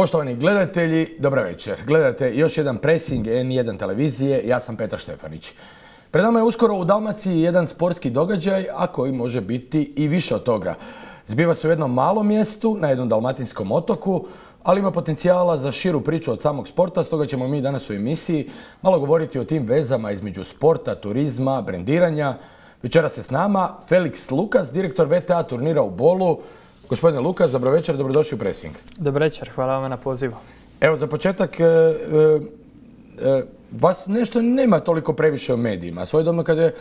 Poštovani gledatelji, dobra večer. Gledate još jedan presing N1 televizije, ja sam Petar Štefanić. Pred nama je uskoro u Dalmaciji jedan sportski događaj, a koji može biti i više od toga. Zbiva se u jednom malom mjestu, na jednom dalmatinskom otoku, ali ima potencijala za širu priču od samog sporta, stoga ćemo mi danas u emisiji malo govoriti o tim vezama između sporta, turizma, brendiranja. Večeras je s nama Felix Lukas, direktor VTA turnira u Bolu. Gospodine Lukas, dobro večer, dobrodošli u Pressing. Dobro večer, hvala vam na pozivu. Evo, za početak, vas nešto nema toliko previše u medijima. Svojedobno kad je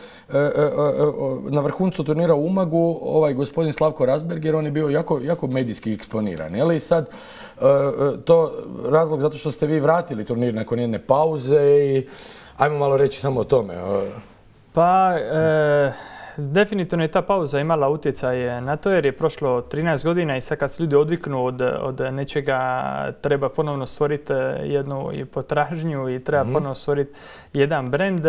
na vrhuncu turnira u Umagu, ovaj gospodin Slavko Razberger, on je bio jako medijski eksponiran. Je li sad to razlog zato što ste vi vratili turnir nakon jedne pauze i ajmo malo reći samo o tome. Pa, definitivno je ta pauza imala utjecaj na to jer je prošlo 13 godina i sad kad se ljudi odviknu od nečega treba ponovno stvoriti jednu i i treba ponovno stvoriti jedan brend.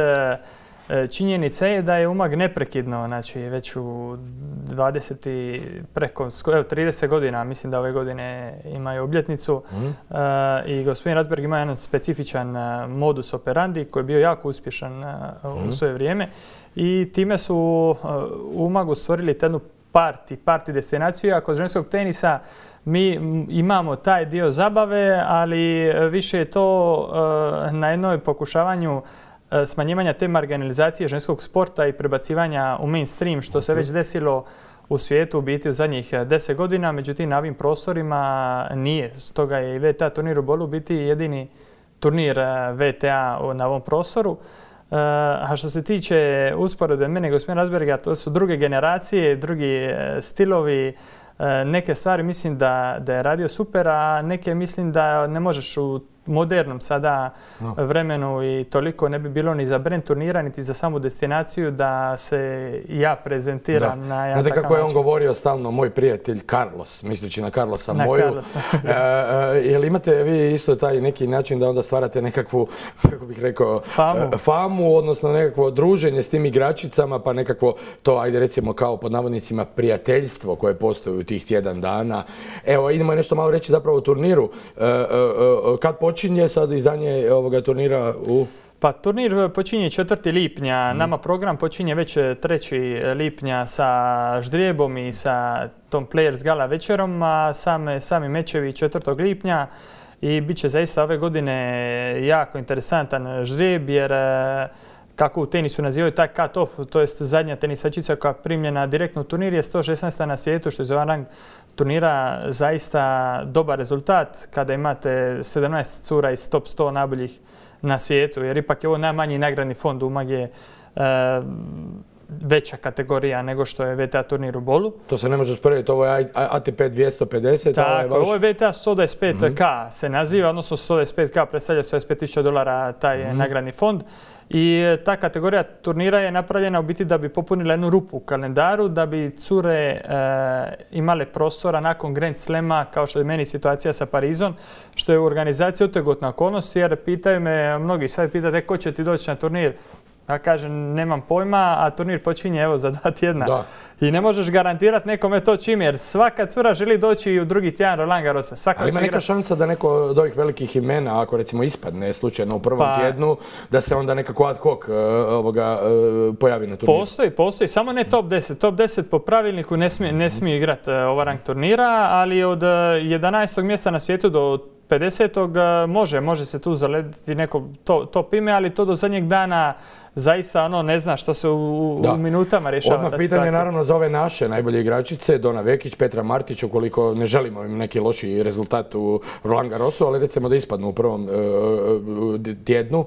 Činjenica je da je Umag neprekidno, znači već u 30 godina, mislim da ove godine imaju obljetnicu i gospodin Razberg ima jedan specifičan modus operandi koji je bio jako uspješan u svoje vrijeme i time su u Umagu stvorili jednu party destinaciju, a kod ženskog tenisa mi imamo taj dio zabave, ali više je to na jednoj pokušavanju smanjivanja te marginalizacije ženskog sporta i prebacivanja u mainstream, što se već desilo u svijetu u biti u zadnjih 10 godina, međutim na ovim prostorima nije. Stoga je i VTA turnir u Bolu biti jedini turnir VTA na ovom prostoru. A što se tiče usporedbe mene i gospodina Razberga, to su druge generacije, drugi stilovi. Neke stvari mislim da je radio super, a neke mislim da ne možeš u modernom sada vremenu i toliko ne bi bilo ni za brend turnira, niti za samu destinaciju da se ja prezentiram na jedan takav način. Kako je on govorio stalno, moj prijatelj Carlos, misleći na Carlosa moju. Jel imate vi isto taj neki način da onda stvarate nekakvu, kako bih rekao, famu, odnosno nekakvo druženje s tim igračicama, pa nekakvo to, ajde recimo kao pod navodnicima prijateljstvo koje postoji u tih tjedan dana. Evo, idemo nešto malo reći zapravo o turniru. Kad počinje sad izdanje ovoga turnira u... Pa turnir počinje 4. lipnja, nama program počinje već 3. lipnja sa ždrijebom i sa tom Players Gala večerom, a sami mečevi 4. lipnja i bit će zaista ove godine jako interesantan ždrijeb jer kako u tenisu nazivaju taj cut-off, to jest zadnja tenisačica koja je primljena direktno u turnir je 116. na svijetu, što je za ovaj rang turnira zaista dobar rezultat kada imate 17 cura iz top 100 najboljih na svijetu, jer ipak je ovo najmanji nagradni fond. Umag je veća kategorija nego što je VTA turnir u Bolu. To se ne može usporediti, ovo je ATP 250. Tako, ovo je VTA 125K se naziva, odnosno 125K predstavlja $125.000 taj nagradni fond. I ta kategorija turnira je napravljena u biti da bi popunila jednu rupu u kalendaru, da bi cure imale prostora nakon Grand Slema, kao što je meni situacija sa Parizom, što je u organizaciji otegotna okolnost, jer pitaju me, mnogi sad pitaju ko će ti doći na turnir. Ja kažem, nemam pojma, a turnir počinje evo za 2 tjedna. I ne možeš garantirati nekome to čim, jer svaka cura želi doći u drugi tjedan Roland Garrosa. Ali ima neka šansa da neko od ovih velikih imena, ako recimo ispadne slučajno u prvom tjednu, da se onda nekako ad hoc pojavi na turniru? Postoji, samo ne top 10. Top 10 po pravilniku ne smije igrati ovaj rang turnira, ali od 11. mjesta na svijetu do 50. može se tu zalediti neko top ime, ali to do zadnjeg dana zaista ne zna što se u minutama rješava ta situacija. Odmah pitanje naravno za ove naše najbolje igračice, Dona Vekić, Petra Martić, ukoliko ne želimo im neki loši rezultat u Roland Garrosu, ali recimo da ispadnu u prvom tjednu.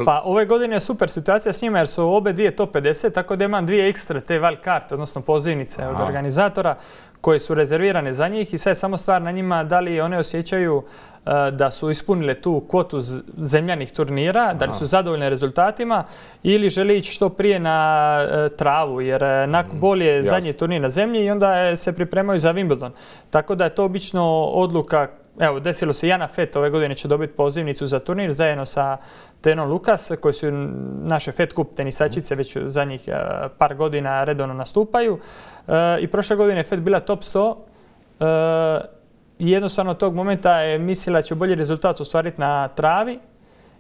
Pa ove godine je super situacija s njima jer su obe dvije top 50, tako da imam 2 ekstra te wild card, odnosno pozivnice od organizatora koje su rezervirane za njih i sad je samo stvar na njima da li one osjećaju da su ispunile tu kvotu zemljanih turnira, da li su zadovoljne rezultatima ili žele ići što prije na travu jer Bol je zadnji turnir na zemlji i onda se pripremaju za Wimbledon. Tako da je to obično odluka. Evo, desilo se Jana Fett ove godine će dobiti pozivnicu za turnir zajedno sa Tenom Lukas, koji su naše Fed Cup tenisačice već zadnjih par godina redovno nastupaju. I prošle godine je Fed bila top 100 jednostavno tog momenta je mislila da će bolji rezultat ostvariti na travi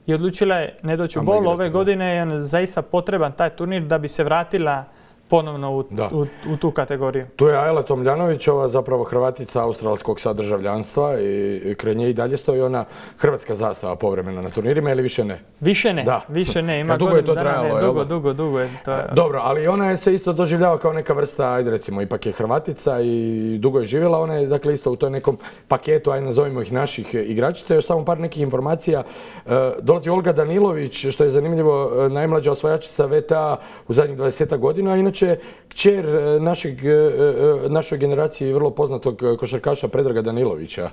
i odlučila je ne doći u bol. Ove godine je zaista potreban taj turnir da bi se vratila ponovno u tu kategoriju. Tu je Ajla Tomljanovićova, zapravo Hrvatica australskog sadržavljanstva i kraj nje i dalje stoji ona hrvatska zastava povremena na turnirima ili više ne? Više ne, više ne. Ima dugo je to trajalo, dugo je to. Dobro, ali ona je se isto doživljava kao neka vrsta, ajde recimo, ipak je Hrvatica i dugo je živjela, ona je dakle isto u toj nekom paketu, ajde nazovimo ih naših igračica. Još samo par nekih informacija. Dolazi Olga Danilović, što je zanimljivo, najmlađa osvajačica VTA u zadnjih 20 godina, inače kćer našoj generaciji vrlo poznatog košarkaša Predraga Danilovića.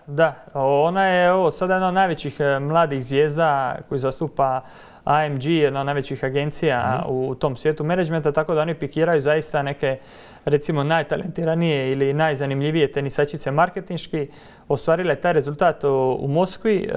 Da. Ona je sada jedna od najvećih mladih zvijezda koji zastupa AMG, jedna od najvećih agencija u tom svijetu menadžmenta, tako da oni pikiraju zaista neke, recimo, najtalentiranije ili najzanimljivije tenisačice marketinški. Ostvarila je taj rezultat u Moskvi.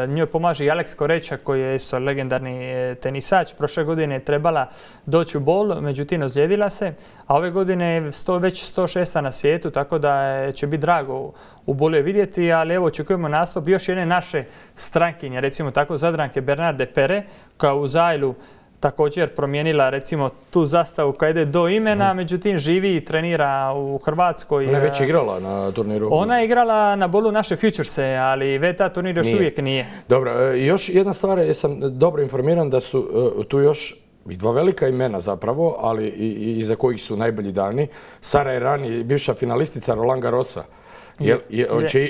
Njoj pomaže i Alex Koreća koji je isto legendarni tenisač. Prošle godine je trebala doći u bol, međutim ozlijedila se. A ove godine je već 106. na svijetu, tako da će biti drago u bolu je vidjeti. Ali evo, očekujemo nastup još jedne naše strankinje, recimo tako Zadranke Bernarde Pere, koja u Zajlu također promijenila recimo tu zastavu koja ide do imena, međutim živi i trenira u Hrvatskoj. Ona je već igrala na turniru? Ona je igrala na bolu naše Futurese, ali VTA turnir još uvijek nije. Dobro, još jedna stvar, jesam dobro informiran da su tu još i dva velika imena zapravo, ali i za kojih su najbolji dani. Sara Errani, bivša finalistica Roland Garrosa.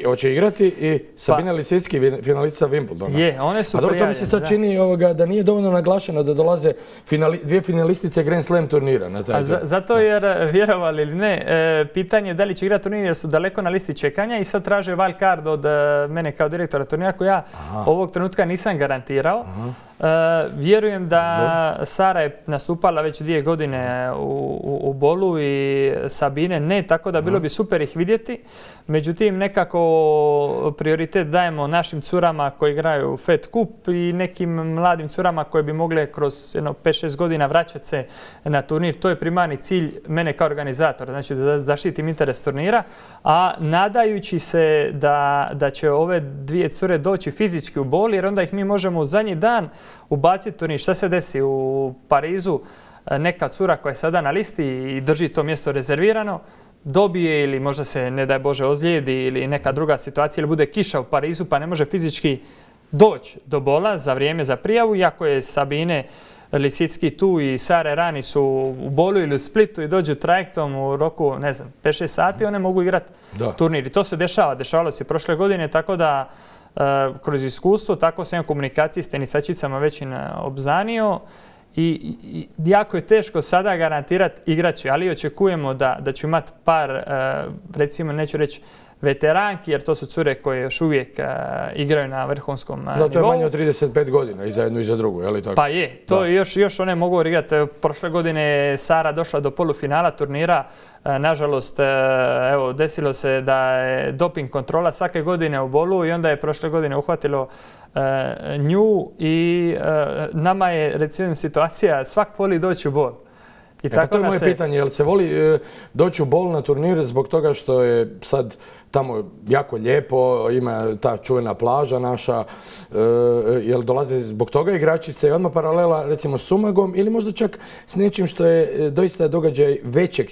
Hoće igrati i Sabina Lisicki, finalistica Wimbledona. One su prijavljene. A dobro, to mi se sad čini da nije dovoljno naglašeno da dolaze dvije finalistice Grand Slam turnira na taj turnir. Zato jer, vjerovali ili ne, pitanje je da li će igrati turnir jer su daleko na listi čekanja i sad traže wild card od mene kao direktora turnira koji ja ovog trenutka nisam garantirao. Vjerujem da Sara je nastupala već 2 godine u bolu i Sabine ne, tako da bilo bi super ih vidjeti. Međutim, nekako prioritet dajemo našim curama koji igraju Fed Cup i nekim mladim curama koje bi mogle kroz 5-6 godina vraćati se na turnir. To je primarni cilj mene kao organizatora, znači da zaštitim interes turnira, a nadajući se da će ove 2 cure doći fizički u bol, jer onda ih mi možemo u zadnji dan ubaciti turnir. Šta se desi u Parizu? Neka cura koja je sada na listi i drži to mjesto rezervirano, dobije ili možda se, ne daj Bože, ozlijedi ili neka druga situacija ili bude kiša u Parizu pa ne može fizički doći do bola za vrijeme za prijavu, iako je Sabine Lisicki tu i Sara Errani su u bolu ili u Splitu i dođu trajektom u roku, ne znam, 5-6 sati, one mogu igrati turnir. I to se dešavalo se prošle godine, tako da kroz iskustvo, tako sam u komunikaciji s tenisačicama već obznanio. I jako je teško sada garantirati igrače, ali očekujemo da ću imati par, recimo neću reći veteranki, jer to su cure koje još uvijek igraju na vrhunskom nivou. Da, to je manje od 35 godina i za jednu i za drugu, je li tako? Pa je, to još one mogu igrati. Prošle godine je Sara došla do polufinala turnira. Nažalost, evo, desilo se da je doping kontrola svake godine u bolu i onda je prošle godine uhvatilo nju i nama je, recimo, situacija svak voli doći u bol. To je moje pitanje, jel se voli doći u bol na turnir zbog toga što je sad tamo jako lijepo, ima ta čuvena plaža naša, jel dolaze zbog toga igračice i odmah paralela recimo s Umagom ili možda čak s nečim što je doista događaj većeg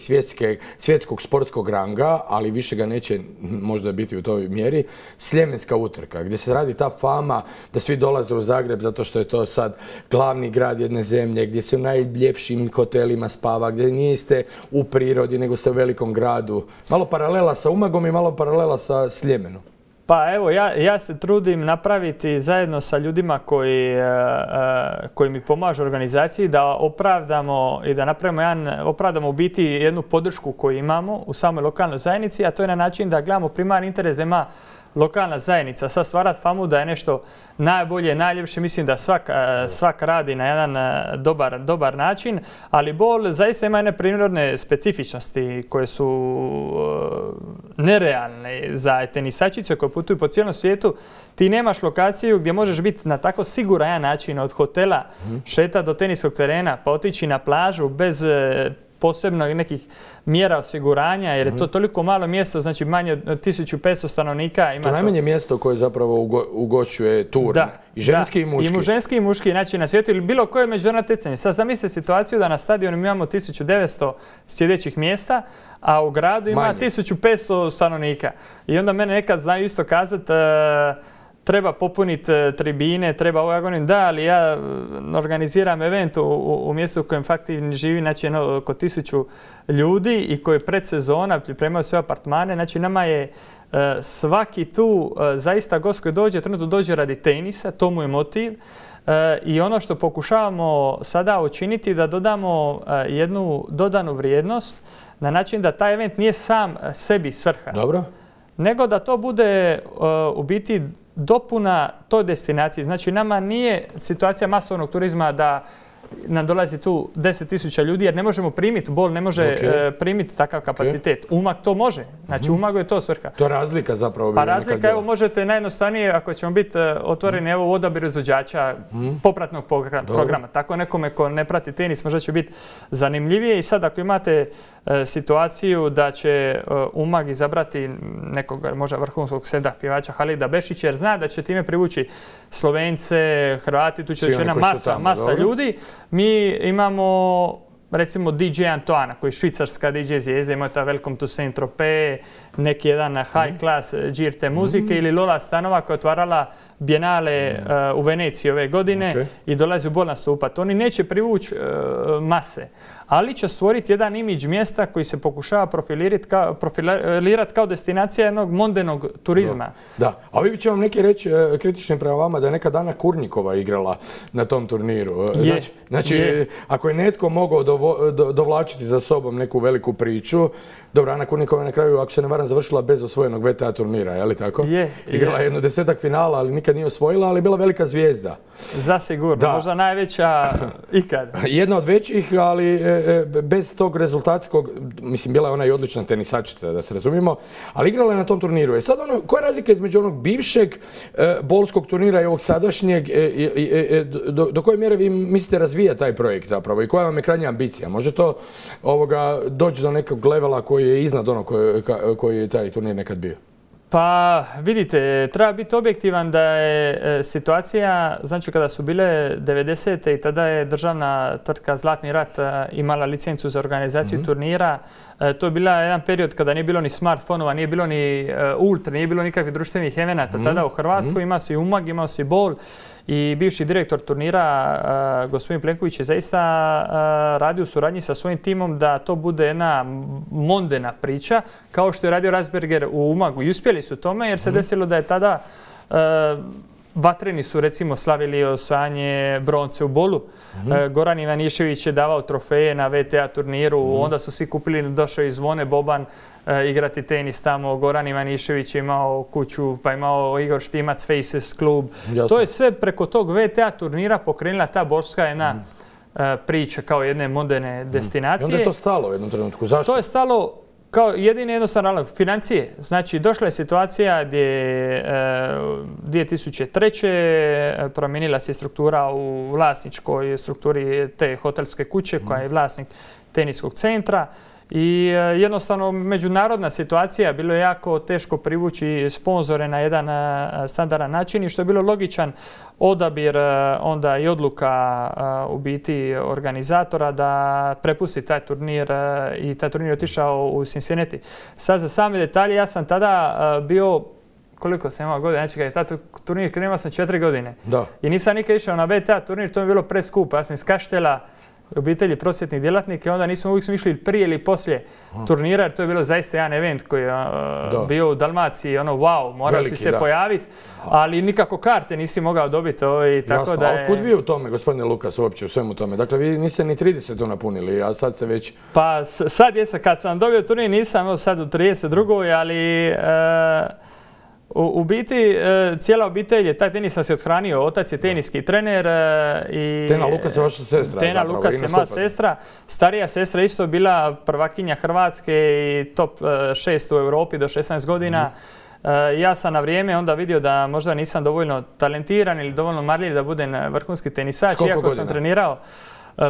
svjetskog sportskog ranga, ali više ga neće možda biti u toj mjeri, Sljemenska utrka, gdje se radi ta fama da svi dolaze u Zagreb zato što je to sad glavni grad jedne zemlje, gdje se u najljepšim hotelima spava, gdje niste u prirodi nego ste u velikom gradu. Malo paralela sa Umagom i malo paralela sa Sljemenom. Pa evo, ja se trudim napraviti zajedno sa ljudima koji mi pomažu organizaciji da opravdamo i da opravdamo u biti jednu podršku koju imamo u samoj lokalnoj zajednici, a to je na način da gledamo primarni interes da ima lokalna zajednica. Sad stvarati famu da je nešto najbolje, najljepše, mislim da svak radi na jedan dobar način, ali bol zaista ima jedne prirodne specifičnosti koje su nerealne za tenisačice koje putuju po cijelom svijetu. Ti nemaš lokaciju gdje možeš biti na tako siguran način od hotela šeta do teniskog terena pa otići na plažu bez posebno nekih mjera osiguranja, jer je to toliko malo mjesto, znači manje od 1500 stanovnika. To je najmanje mjesto koje zapravo ugošćuje turne. I ženski i muški. I ženski i muški, znači na svijetu ili bilo koje međunarodno natjecanje. Sad zamislite situaciju da na stadionu imamo 1900 sjedećih mjesta, a u gradu ima 1500 stanovnika. I onda mene nekad znaju isto kazati treba popuniti tribine, treba ovo, ja govorim da, ali ja organiziram event u mjestu u kojem faktički živi znači, oko 1000 ljudi i koji predsezona pripremaju sve apartmane. Znači nama je svaki tu zaista gost koji dođe, trenutno dođe radi tenisa, to mu je motiv. I ono što pokušavamo sada učiniti da dodamo jednu dodanu vrijednost na način da taj event nije sam sebi svrha. Dobro. Nego da to bude u biti dopuna toj destinaciji. Znači nama nije situacija masovnog turizma da nam dolazi tu 10.000 ljudi jer ne možemo primiti, Bol ne može primiti takav kapacitet. Umag to može. Znači Umagu je to svrha. To je razlika zapravo. Pa razlika, evo možete najjednostavnije ako ćemo biti otvoreni evo u odabiru izvođača popratnog programa. Tako nekome ko ne prati tenis možda će biti zanimljivije i sad ako imate situaciju da će Umag izabrati nekog možda vrhunskog pjevača Halida Bešića jer zna da će time privući Slovence, Hrvati, tu će još jedna masa ljudi. Mi imamo recimo DJ Antoana koji je švicarska DJ zvijezda, ima ta Welcome to Saint-Tropez, neki jedan high class GRT muzike ili Lola Stanova koja je otvarala Biennale u Veneciji ove godine i dolazi u Bol nastupati. Oni neće privući mase, ali će stvoriti jedan imidž mjesta koji se pokušava profilirati kao destinacija jednog mondenog turizma. Da, a vi će vam neki reći kritični prema vama da je neka Dana Kurnikova igrala na tom turniru. Znači, ako je netko mogao dovlačiti za sobom neku veliku priču, dobro, Ana Kurnikova je na kraju, ako se ne varam, završila bez osvojenog VTA turnira, je li tako? Igrala jedno 10-ak finala, ali nikad nije osvojila, ali je bila velika zvijezda. Zasigurno, možda najveća ikad. Jedna od većih, ali bez tog rezultatskog, mislim, bila je ona i odlična tenisačica, da se razumijemo, ali igrala je na tom turniru. Sad, koja je razlika između onog bivšeg bolskog turnira i ovog sadašnjeg? Do koje mjere vi mislite razvijati taj projekt zapravo i koja vam je krajnja ambicija? Može to doći do nekog levela koji je iznad onog koji je taj turnir nekad bio? Pa vidite, treba biti objektivan da je situacija, znači kada su bile 90. i tada je državna tvrtka Zlatni rat imala licencu za organizaciju turnira. To je bila jedan period kada nije bilo ni smartfonova, nije bilo ni ultra, nije bilo nikakvih društvenih evenata. Tada u Hrvatskoj imao si Umag, imao si Bol i bivši direktor turnira, gospodin Plenković, je zaista radio u suradnji sa svojim timom da to bude jedna mondena priča, kao što je radio Rasberger u Umagu. I uspjeli su tome jer se desilo da je tada Vatreni su recimo slavili osvajanje bronce u Bolu. Goran Ivanišević je davao trofeje na VTA turniru, onda su svi kupili, došao i Zvone Boban igrati tenis tamo. Goran Ivanišević je imao kuću, pa imao Igor Štimac, Faces klub. To je sve preko tog VTA turnira pokrenula ta bolska jedna priča kao jedne moderne destinacije. I onda je to stalo u jednom trenutku. Zašto? To je stalo kao jedini jednostavno razlog, financije. Znači, došla je situacija gdje 2003. promijenila se struktura u vlasničkoj strukturi te hotelske kuće koja je vlasnik teniskog centra. I jednostavno međunarodna situacija, bilo je jako teško privući sponzore na jedan standardan način i što je bilo logičan odabir onda i odluka u biti organizatora da prepusti taj turnir i taj turnir je otišao u Cincinnati. Sad za same detalje, ja sam tada bio, koliko sam imao godina, znači kada je taj turnir krenuo sam 4 godine. I nisam nikad išao na VTA turnir, to mi je bilo preskupo. Ja sam iz Kaštela, obitelji prosvjetnih djelatnika i onda uvijek smo išli prije ili poslije turnira jer to je bilo zaista jedan event koji je bio u Dalmaciji, wow, morao si se pojaviti, ali nikako karte nisi mogao dobiti. Jasno, a otkud vi u tome, gospodine Lukas, uopće u svemu tome? Dakle, vi niste ni 30 napunili, a sad ste već... Pa sad jesam, kad sam dobio turnir nisam, sad u 32. ali... U biti, cijela obitelj je, taj tenis nas je othranio, otac je teniski trener i... Tena Lukas je vaša sestra. Tena Lukas je moja sestra. Starija sestra isto bila prvakinja Hrvatske i top 6 u Europi do 16 godina. Ja sam na vrijeme onda vidio da možda nisam dovoljno talentiran ili dovoljno marljiv da budem vrhunski tenisač, iako sam trenirao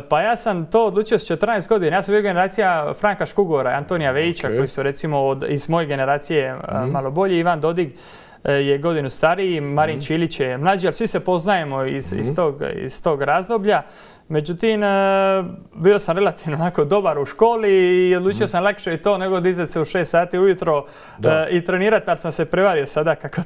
Pa ja sam to odlučio s 14 godina. Ja sam bio generacija Franka Škugora i Antonija Vejića, koji su recimo iz moje generacije malo bolji. Ivan Dodig je godinu stariji, Marin Čilić je mlađi, ali svi se poznajemo iz tog razdoblja. Međutim, bio sam relativno onako dobar u školi i odlučio sam lakše i to nego dizati se u 6 sati ujutro i trenirati, ali sam se prevario sada kako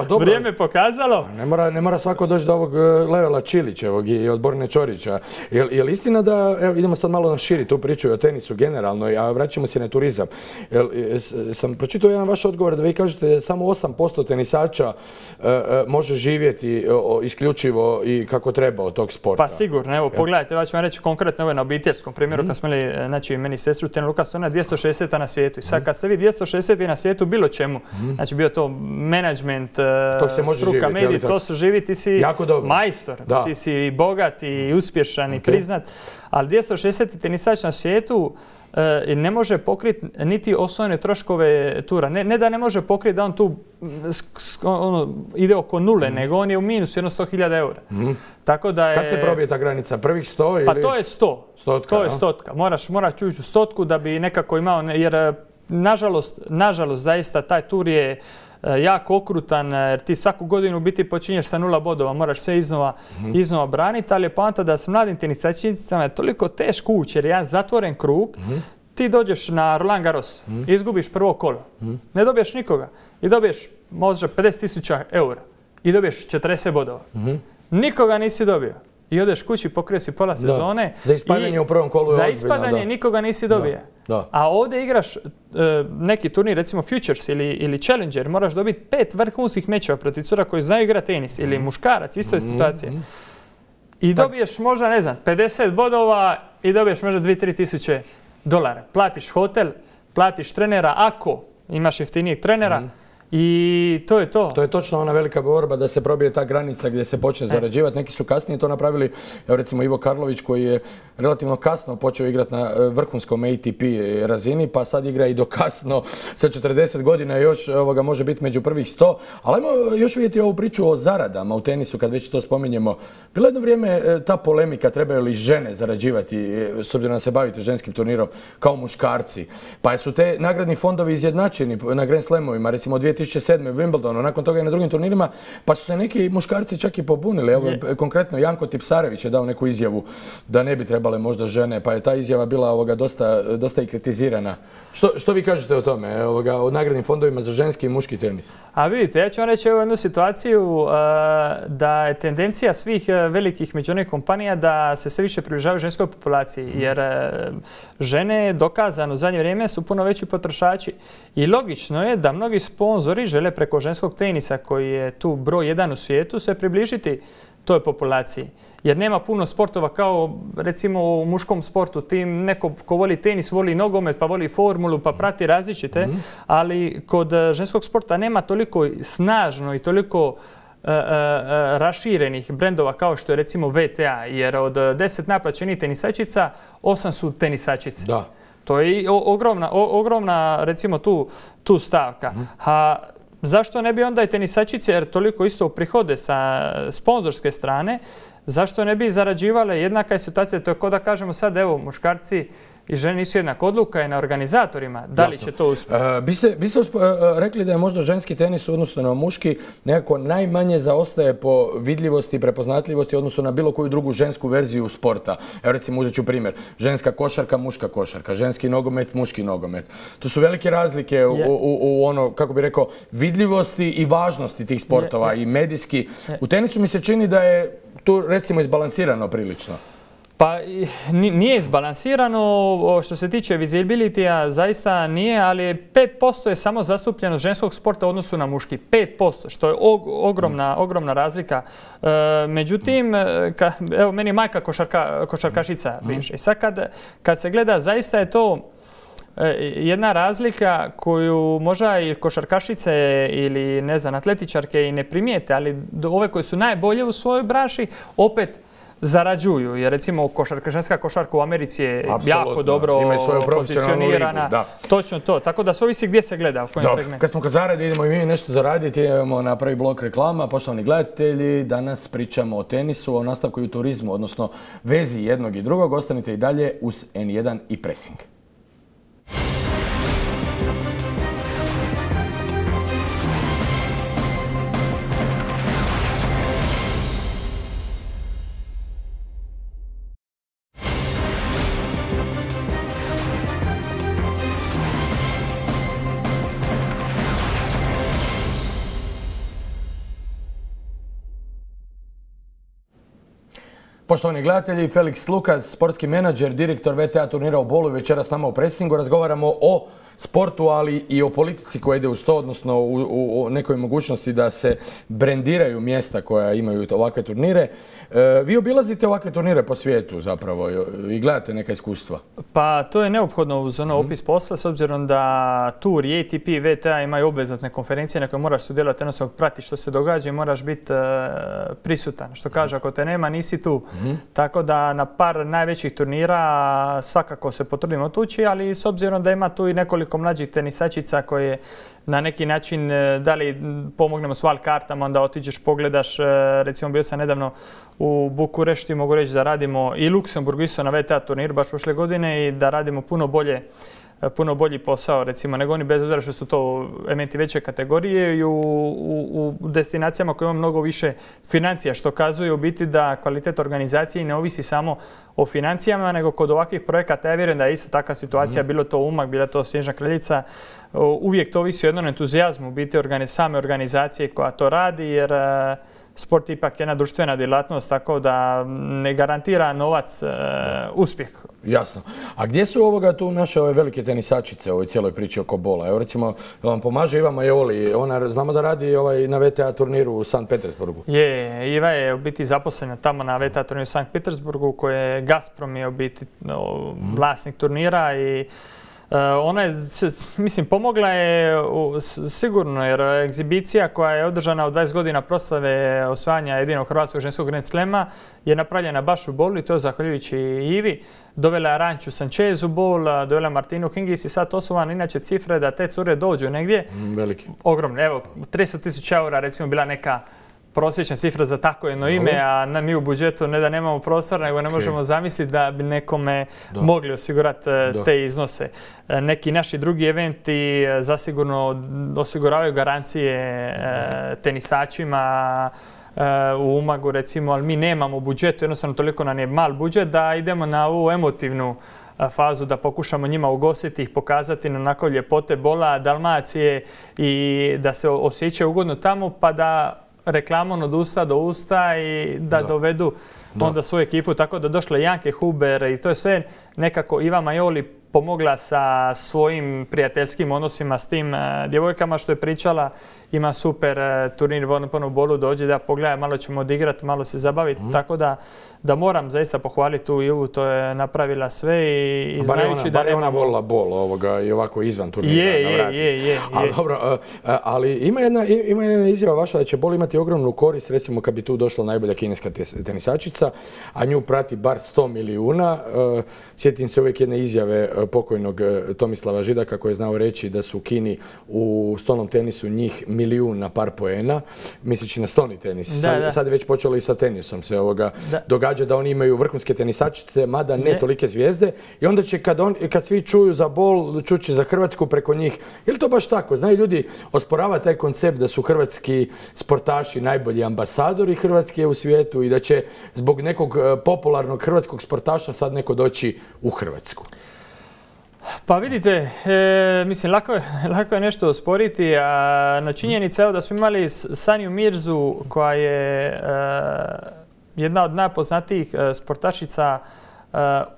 to vrijeme pokazalo. Ne mora svako doći do ovog levela Čilićevog i od Borne Čorića. Je li istina da, evo idemo sad malo na širi tu priču o tenisu generalno, a vraćamo se na turizam. Sam pročitao jedan vaš odgovor da vi kažete da samo 8% tenisača može živjeti isključivo i kako treba od tog sporta. Pa sigurno, evo pogledajte, ja ću vam reći konkretno ovo na obiteljskom primjeru, kad smo imali, znači meni sestru Tena Lukas, ona je 260 na svijetu. I sad kad ste vi 260 na svijetu bilo čemu, znači bio to menadžment, struka, mediji, to se živi, ti si majstor, ti si bogat i uspješan i priznat, ali 260 tenisač na svijetu ne može pokriti niti osnovne troškove tura. Ne da ne može pokriti da on tu ide oko nule, nego on je u minusu jedno 100.000 eura. Tako da je... Kad se probije ta granica? Prvih 100 ili... Pa to je 100. To je 100. Moraš ući u 100 da bi nekako imao, jer nažalost zaista taj tur je jako okrutan, jer ti svaku godinu biti počinješ sa 0 bodova, moraš sve iznova braniti, ali je poanta da s mladim tenisačicama je toliko teško ući, jer je jedan zatvoren krug, ti dođeš na Roland Garros, izgubiš prvo kolo, ne dobiješ nikoga i dobiješ možda 50.000 eura i dobiješ 40 bodova. Nikoga nisi dobio. I odeš kući, pokrio si pola sezone. Za ispadanje u prvom kolu je ozbiljno. Za ispadanje nikoga nisi dobio. A ovdje igraš neki turnir, recimo Futures ili Challenger, moraš dobiti 5 vrhunskih mečeva protiv cura koji znaju igrati tenis ili muškarac, isto je situacija. I dobiješ možda, ne znam, 50 bodova i dobiješ možda 2-3 tisuće dolara. Platiš hotel, platiš trenera ako imaš jeftinijeg trenera. I to je to. To je točno ona velika borba da se probije ta granica gdje se počne zarađivati. Neki su kasnije to napravili, evo recimo Ivo Karlović koji je relativno kasno počeo igrati na vrhunskom ATP razini, pa sad igra i do kasno sa 40 godina još može biti među prvih 100. Ali ajmo još vidjeti ovu priču o zaradama u tenisu kad već to spominjemo. Bilo jedno vrijeme ta polemika trebaju li žene zarađivati, s obzirom da se bavite ženskim turnirom, kao muškarci. Pa su te nagradni fondovi izjednačeni na Grand Slamovima, recimo 2007. u Wimbledonu, nakon toga i na drugim turnirima, pa su se neki muškarci čak i pobunili. Evo, konkretno Janko Tipsarević je dao neku izjavu da ne bi trebale možda žene, pa je ta izjava bila dosta i kritizirana. Što vi kažete o tome, o nagradnim fondovima za ženski i muški tenis? A vidite, ja ću vam reći jednu situaciju da je tendencija svih velikih međunarodnih kompanija da se sve više približavaju ženskoj populaciji, jer žene dokazano u zadnje vrijeme su puno veći potrošači. I logično je da mnogi sponzori žele preko ženskog tenisa, koji je tu broj 1 u svijetu, se približiti toj populaciji. Jer nema puno sportova kao recimo u muškom sportu. Tim neko ko voli tenis, voli nogomet, pa voli formulu, pa prati različite. Ali kod ženskog sporta nema toliko snažno i toliko raširenih brendova kao što je recimo VTA. Jer od 10 naplaćenih tenisačica, 8 su tenisačice. Da. To je ogromna recimo tu stavka. A zašto ne bi onda i tenisačice, jer toliko isto prihode sa sponzorske strane, zašto ne bi zarađivale? Jednaka je situacija, to je kao da kažemo sad, evo, muškarci i žene nisu jednak, odluka je na organizatorima. Da li će to uspjeti? Bi se rekli da je možda ženski tenis u odnosu na muški nekako najmanje zaostaje po vidljivosti i prepoznatljivosti u odnosu na bilo koju drugu žensku verziju sporta. Evo recimo uzet ću primjer. Ženska košarka, muška košarka. Ženski nogomet, muški nogomet. To su velike razlike u ono, kako bi rekao, vidljivosti i važnosti tih sportova i medijski. U tenisu mi se čini da je tu recimo izbalansirano prilično. Pa nije izbalansirano, što se tiče visibility-a zaista nije, ali 5% je samo zastupljenost ženskog sporta u odnosu na muški. 5%, što je ogromna razlika. Međutim, evo meni je majka košarkašica bivša. I sad kad se gleda, zaista je to jedna razlika koju možda i košarkašice ili ne znam, atletičarke i ne primijete, ali ove koje su najbolje u svojoj branši opet zarađuju. Jer recimo ženska košarka u Americi je jako dobro pozicionirana. Točno to. Tako da se ovisi gdje se gleda, u kojem segmentu. Kad smo kod zarade, idemo i mi nešto zaraditi. Idemo na prvi blok reklama. Poštovani gledatelji, danas pričamo o tenisu, o nastavku i u turizmu, odnosno vezi jednog i drugog. Ostanite i dalje uz N1 i Pressing. Poštovani gledatelji, Felix Lukas, sportski menadžer, direktor VTA turnira u Bolu, večeras s nama u Pressingu. Razgovaramo o sportu, ali i o politici koja ide uz to, odnosno o nekoj mogućnosti da se brendiraju mjesta koja imaju ovakve turnire. Vi obilazite ovakve turnire po svijetu zapravo i gledate neka iskustva. Pa to je neophodno uz opis posla, s obzirom da Tour i ATP i VTA imaju obvezatne konferencije na koje moraš sudjelovati, jednostavno pratiš što se događa i moraš biti prisutan. Što kaže, ako te nema, nisi tu. Tako da na par najvećih turnira svakako se potrudimo otući, ali s obzirom da ima tu i nekoliko mlađih tenisačica koje na neki način da li pomognemo s val kartama, onda otiđeš, pogledaš, recimo bio sam nedavno u Bukurešti, mogu reći da radimo i Luksemburgu isto na VTA turniru baš prošle godine i da radimo puno bolji posao, recimo, nego oni, bez obzira što su to elementi veće kategorije i u destinacijama koje ima mnogo više financija, što kazuje u biti da kvalitet organizacije ne ovisi samo o financijama, nego kod ovakvih projekata, ja vjerujem da je isto takva situacija, bilo to Umag, bila to Snježna Kraljica, uvijek to ovisi o jednom entuzijazmu, biti same organizacije koja to radi, jer sport je ipak jedna društvena djelatnost, tako da ne garantira novac uspjeh. Jasno. A gdje su tu naše ove velike tenisačice u ovoj cijeloj priči oko bola? Evo recimo, vam pomaže Iva Majoli, ona znamo da radi na VTA turniru u Sankt Petersburgu. Je, Iva je u biti zaposlena tamo na VTA turniru u Sankt Petersburgu, koje je Gazprom je u biti vlasnik turnira i ona je, mislim, pomogla je sigurno, jer egzibicija koja je održana u 20 godina proslave osvajanja jedinog hrvatskog ženskog Grand Slema je napravljena baš u Bolu i to zahvaljujući Ivi. Dovela je Ranču Sanchez u Bol, dovela Martinu Hingis i sad to su vam inače cifre da te cure dođu negdje. Veliki. Ogromne. Evo, 300.000 eura recimo bila neka prosječna cifra za tako jedno ime, a mi u budžetu ne da nemamo prostora, nego ne možemo zamisliti da bi nekome mogli osigurati te iznose. Neki naši drugi eventi zasigurno osiguravaju garancije tenisačima u Umagu recimo, ali mi nemamo u budžetu, jednostavno toliko nam je mal budžet da idemo na ovu emotivnu fazu da pokušamo njima ugostiti ih, pokazati na onako ljepote Bola, Dalmacije i da se osjećaju ugodno tamo, pa da reklamom od usta do usta i da dovedu onda svoju ekipu. Tako da došla Janke Huber i to je sve nekako Iva Majoli pomogla sa svojim prijateljskim odnosima s tim djevojkama što je pričala. Ima super turnir u Bolu, dođe da pogleda, malo ćemo odigrati, malo se zabaviti. Tako da moram zaista pohvaliti tu Ivu, to je napravila sve i znajući da... Bar je ona volila Bol i ovako izvan turnira. Je. Ali dobro, ali ima jedna izjava vaša da će Bol imati ogromnu korist, recimo kad bi tu došla najbolja kineska tenisačica, a nju prati bar 100 milijuna. Sjetim se uvijek jedne izjave pokojnog Tomislava Židaka koji je znao reći da su u Kini u stolnom tenisu njih milijun na par poena, misleći na stolni tenis. Sad je već počelo i sa tenisom se događa da oni imaju vrhunske tenisačice, mada ne tolike zvijezde, i onda će kad svi čuju za Bol, čući za Hrvatsku preko njih. Je li to baš tako? Znaju ljudi osporava taj koncept da su hrvatski sportaši najbolji ambasadori Hrvatske u svijetu i da će zbog nekog popularnog hrvatskog sportaša sad neko doći u Hrvatsku? Pa vidite, mislim, lako je nešto osporiti, a na činjenica je da smo imali Sanju Mirzu koja je jedna od najpoznatijih sportašica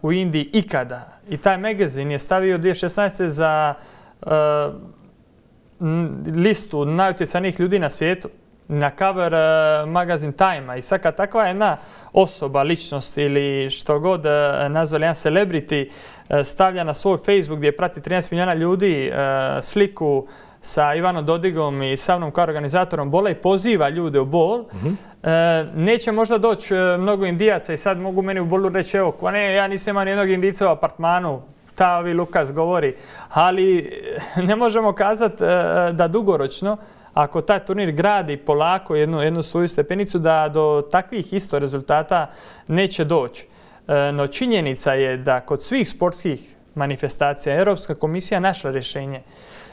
u Indiji ikada. I taj magazin je stavio 2016. za listu najutjecajnijih ljudi na svijetu na cover magazin Time-a. I sad kad takva jedna osoba, ličnost ili što god nazvali jedan celebrity stavlja na svoj Facebook gdje prati 13 milijuna ljudi sliku sa Ivanom Dodigom i sa mnom kao organizatorom bola i poziva ljude u bol, neće možda doći mnogo Indijaca i sad mogu meni u bolu reći evo, ne, ja nisam imao nijednog Indijca u apartmanu, ta ovi Lukas govori, ali ne možemo kazati da dugoročno, ako taj turnir gradi polako jednu svoju stepenicu, da do takvih isto rezultata neće doći. No činjenica je da kod svih sportskih manifestacija Europska komisija našla rješenje.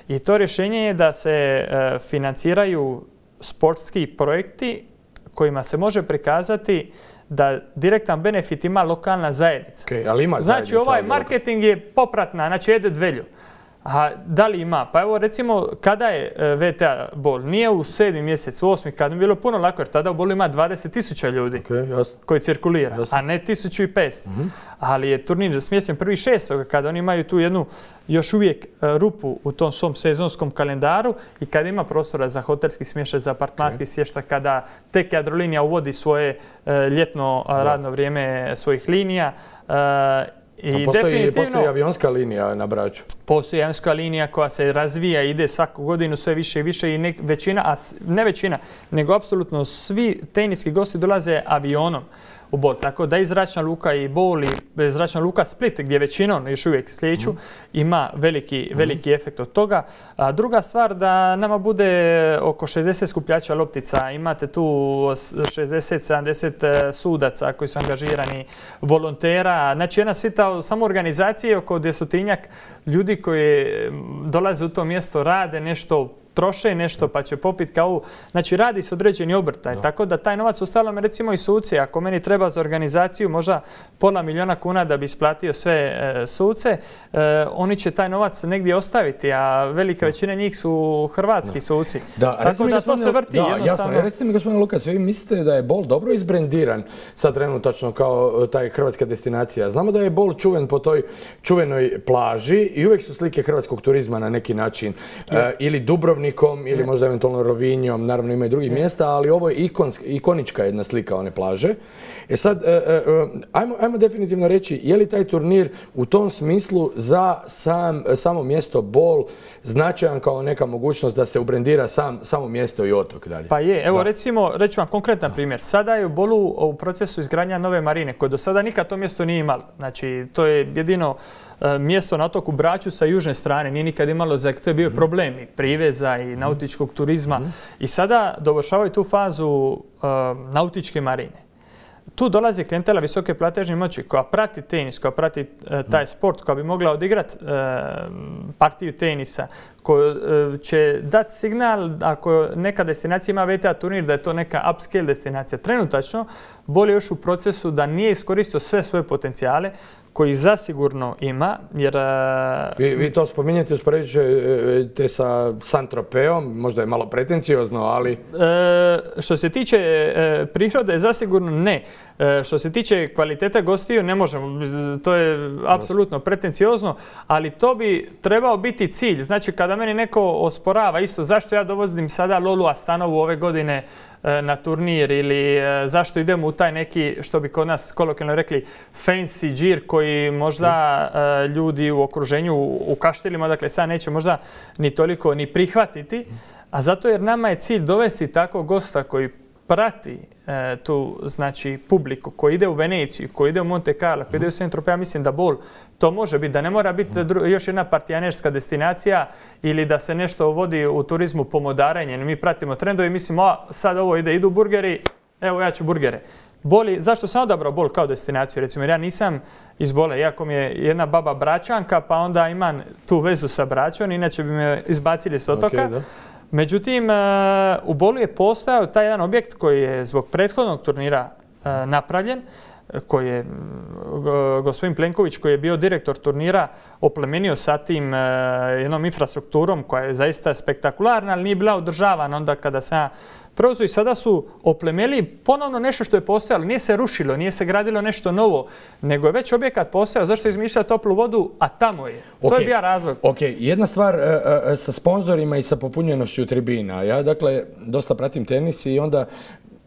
I to rješenje je da se financiraju sportski projekti kojima se može prikazati da direktan benefit ima lokalna zajednica. Ali ima znači ovaj marketing je popratna, znači jede dvelju. A da li ima? Pa evo recimo kada je VTA bol, nije u 7. mjesecu, 8. kad bi bilo puno lako jer tada u bolu ima 20.000 ljudi koji cirkulira, a ne 1.500. Ali je turnir smješten 1.6. kada oni imaju tu jednu još uvijek rupu u tom svom sezonskom kalendaru i kada ima prostora za hotelski smještaj, za apartmanski smještaj, kada tek Jadrolinija uvodi svoje ljetno radno vrijeme svojih linija. Postoji avionska linija na Braču? Postoji avionska linija koja se razvija, ide svaku godinu sve više i više i ne većina, nego apsolutno svi teniski gosti dolaze avionom u bol. Tako da i Zračna luka i Bol i Zračna luka Split, gdje većinom još uvijek slijeću, ima veliki efekt od toga. A druga stvar, da nama bude oko 60 skupljača loptica, imate tu 60-70 sudaca koji su angažirani, volontera, znači jedna svita samo organizacije oko 200-tinjak ljudi koji dolaze u to mjesto, rade nešto, troše nešto pa će popiti kavu. Znači radi se određeni obrtaj. Tako da taj novac uostalom recimo i suci. Ako meni treba za organizaciju možda $500.000 kuna da bi isplatio sve suce, oni će taj novac negdje ostaviti, a velika većina njih su hrvatski suci. Tako da to se vrti jednostavno. Jasno. Recite mi gospodine Lukas, vi mislite da je bol dobro izbrendiran sad trenutačno kao taj hrvatska destinacija? Znamo da je bol čuven po toj čuvenoj plaži i uvijek su slike hrvatskog turizma na neki način. Ili Dubrovnik ili možda eventualno Rovinjom, naravno ima i drugih mjesta, ali ovo je ikonička jedna slika one plaže. Sad, ajmo definitivno reći, je li taj turnir u tom smislu za samo mjesto bol značajan kao neka mogućnost da se ubrendira samo mjesto i otok dalje? Pa je, evo recimo, reću vam konkretan primjer. Sada je u Bolu u procesu izgradnja nove marine, koje do sada nikad to mjesto nije imalo. Znači, to je jedino mjesto na otoku Braču sa južne strane, nije nikad imalo, to je bio problem i priveza i nautičkog turizma. I sada dovršavaju tu fazu nautičke marine. Tu dolazi klijentela visoke platežne moći koja prati tenis, koja prati taj sport, koja bi mogla odigrati partiju tenisa, koja će dati signal ako neka destinacija ima VTA turnir da je to neka upscale destinacija. Trenutačno bolje još u procesu da nije iskoristio sve svoje potencijale koji zasigurno ima, jer... Vi to spominjete, uspoređujete sa Saint-Tropeom, možda je malo pretenciozno, ali... Što se tiče prirode, zasigurno ne. Što se tiče kvalitete gostiju, ne možemo. To je apsolutno pretenciozno, ali to bi trebao biti cilj. Znači, kada meni neko osporava isto zašto ja dovodim sada Lolu Astanovu ove godine na turnir ili zašto idemo u taj neki, što bi kod nas kolokvijalno rekli, fancy džir koji možda ljudi u okruženju, u kaštelima, dakle sad neće možda ni toliko ni prihvatiti, a zato jer nama je cilj dovesti takvog gosta koji prati tu znači publiku, koji ide u Veneciju, koji ide u Monte Carlo, koji ide u Saint-Tropez, ja mislim da bol to može biti, da ne mora biti još jedna partijanerska destinacija ili da se nešto vodi u turizmu pomodarenje. Mi pratimo trendove i mislimo, sad ovo idu burgeri, evo ja ću burgere. Zašto sam odabrao Bol kao destinaciju? Recimo, jer ja nisam iz Bola, iako mi je jedna baba Bračanka, pa onda imam tu vezu sa Bračom, inače bi me izbacili s otoka. Međutim, u Bolu je postojao taj jedan objekt koji je zbog prethodnog turnira napravljen, koji je gospodin Plenković, koji je bio direktor turnira, oplemenio sa tim jednom infrastrukturom koja je zaista spektakularna, ali nije bila održavana onda kada sam preuzeo i sada su oplemenili ponovno nešto što je postojalo. Nije se rušilo, nije se gradilo nešto novo, nego je već objekat postojao. Zašto izmišlja toplu vodu, a tamo je. To je bio razlog. Ok, jedna stvar sa sponzorima i sa popunjenošću tribina. Ja dakle dosta pratim tenis i onda